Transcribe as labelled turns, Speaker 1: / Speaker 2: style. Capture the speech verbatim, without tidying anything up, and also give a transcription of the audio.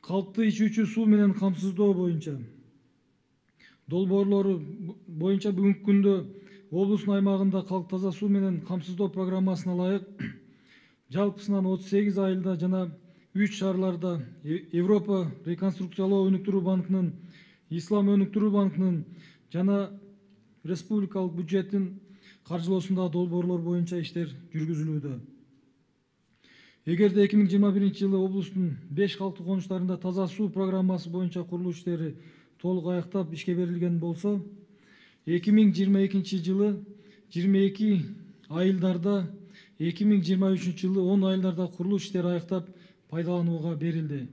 Speaker 1: калкты ичүүчү суу менен камсыздоо боюнча долбоорлору боюнча бүгүнкү күндө облустун аймагында калк таза суу менен камсыздоо программасына ылайык жалпысынан отуз сегиз айылда жана үч шаарларда Европа реконструкциялоо өнүктүрүү банкынын, Ислам өнүктүрүү банкынын жана республикалык бюджеттин каржылоосундагы долбоорлор боюнча иштер жүргүзүлүүдө. Эгерде эки миң жыйырма биринчи жылы облустун беш калктуу конуштарында таза суу программасы боюнча курулуш иштери толук аяктап ишке берилген болсо, эки миң жыйырма экинчи жылы жыйырма эки айылдарда, эки миң жыйырма үчүнчү жылы он айылдарда курулуш иштери аяктап пайдаланууга берилди.